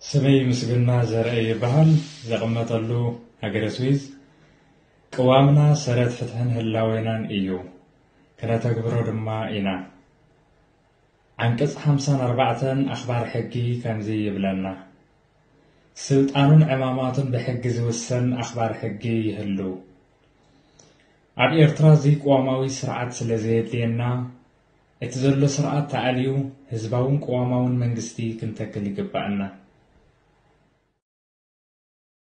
ስመይ ምስግና ዘርአ ይበሃል። ዘቐመጠሉ ሃገረ ስዊዝ። ቅዋምና ሰረት ፍትሕን ህላዌናን እዩ። ክነተግብሮ ድማ ኢና። ዓንቀጽ ሓምሳን ኣርባዕተን ኣኽባር ሕጊ ከምዚ ይብለና፣ ስልጣኑን ዕማማቱን ብሕጊ ዝውሰን ኣኽባር ሕጊ ይህሉ። ኣብ ኤርትራ እዚ ቅዋማዊ ስርዓት ስለ ዘየድልየና፣ እቲ ዘሎ ስርዓት ተኣልዩ ህዝባውን ቅዋማውን መንግስቲ ክንተክል ይግባእና።